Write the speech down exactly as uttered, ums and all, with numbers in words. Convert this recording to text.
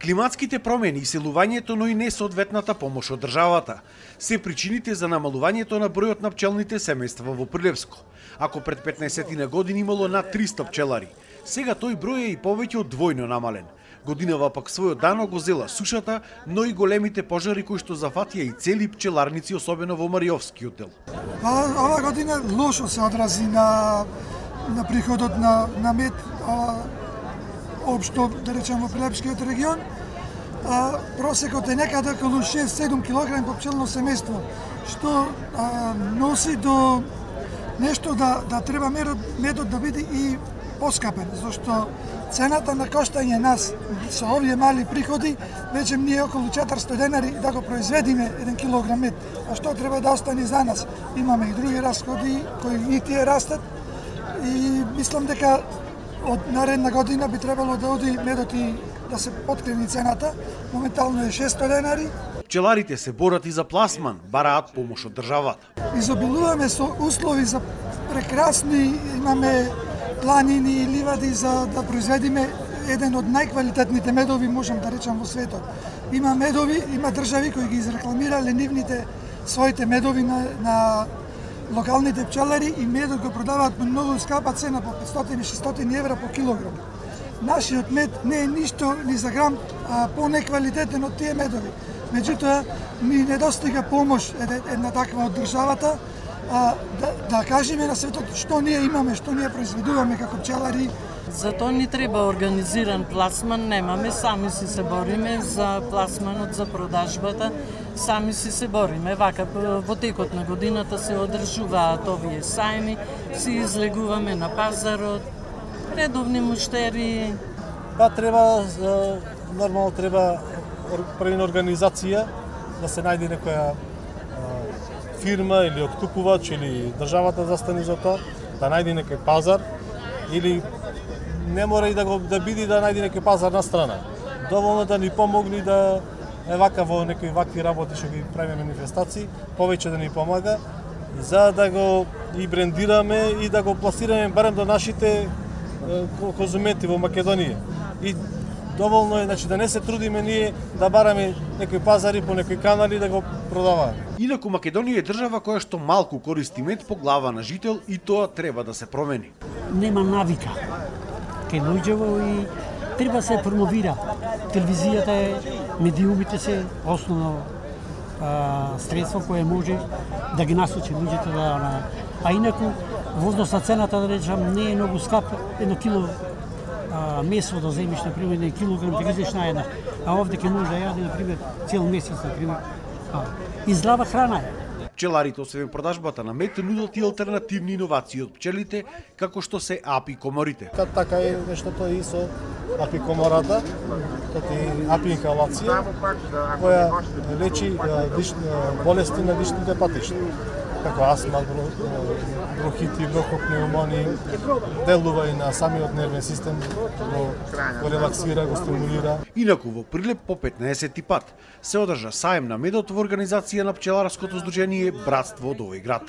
Климатските промени, иселувањето, но и несоодветната помош од државата се причините за намалувањето на бројот на пчелните семејства во Прилепско. Ако пред петнаесет години имало над триста пчелари, сега тој број е и повеќе од двојно намален. Годинава пак својот дано го зела сушата, но и големите пожари кои што зафатија и цели пчеларници, особено во Мариовскиот дел. А, ова година лошо се одрази на на приходот на на мед, а, општо да речем во Прилепскиот регион. А, просекот е некаде околу шест-седум килограми по пчелно семејство, што а, носи до нешто да да треба медот, медот да биде и поскапен, зашто цената на коштање нас со овие мали приходи веќе ние околу четиристотини денари да го произведиме еден килограм мед. А што треба да остане за нас? Имаме и други расходи кои и тие растат и мислам дека од наредна година би требало да оди медот и да се подкрени цената. Моментално е шест денари. Пчеларите се борат и за пласман, бараат помош од државата. Изобилуваме со услови за прекрасни, имаме планини и ливади за да произведиме еден од најквалитетните медови, можам да речам, во светот. Има медови, има држави кои ги изрекламирале нивните своите медови на, на локалните пчелари и медот го продаваат по многу скапа цена, по петстотини-шестстотини евра по килограм. Нашиот мед не е ништо ни за грам а, по-неквалитетен од тие медови. Меѓутоа, ни недостига помош една таква од државата, а, да, да кажеме на светот што ние имаме, што ние произведуваме како пчелари. Затоа ни треба организиран пласман, немаме, сами си се бориме за пласманот, за продажбата, сами си се бориме. Вака, во текот на годината се одржуваат овие сајми, си излегуваме на пазарот, редовни муштери. Да, треба, нормално треба пред организација, да се најде некоја фирма или откупувач или државата застане за тоа, да најде некој пазар или не мора и да го да биде да најде некој пазар на страна. Доволно да ни помогне да е вака во некои вакви работи што ги правиме манифестации, повеќе да ни помага за да го и брендираме и да го пласираме барем до нашите конзументи во Македонија. И доволно е, значи, да не се трудиме ние да бараме некои пазари по некои канали да го продаваме. Инаку Македонија е држава која што малку користи мед по глава на жител и тоа треба да се промени. Нема навика кај луѓето и треба се промовира. Телевизијата е, медиумите се основно а, средство кое може да ги насочи луѓето да... А инаку, во однос на цената, да речам, не е многу скап, едно кило а, месо да земиш, например, еден килограм, да ги зеш на една. А овде ке може да јаде, например, цел месец, например. А, и здрава храна е. Пчеларите, освен продажбата на мед, нудат и алтернативни иновации од пчелите, како што се апикоморите. Така е нештото и со апикомората, тоа е апиинхалација, која лечи болести на дишните патишта, како астма, бронхити, бронхопнеумонии, делува и на самиот нервен систем, го, го релаксира, го стимулира. Инаку во Прилеп по петнаесети пат се одржа саем на медот во организација на пчеларското здружение Братство од овој град.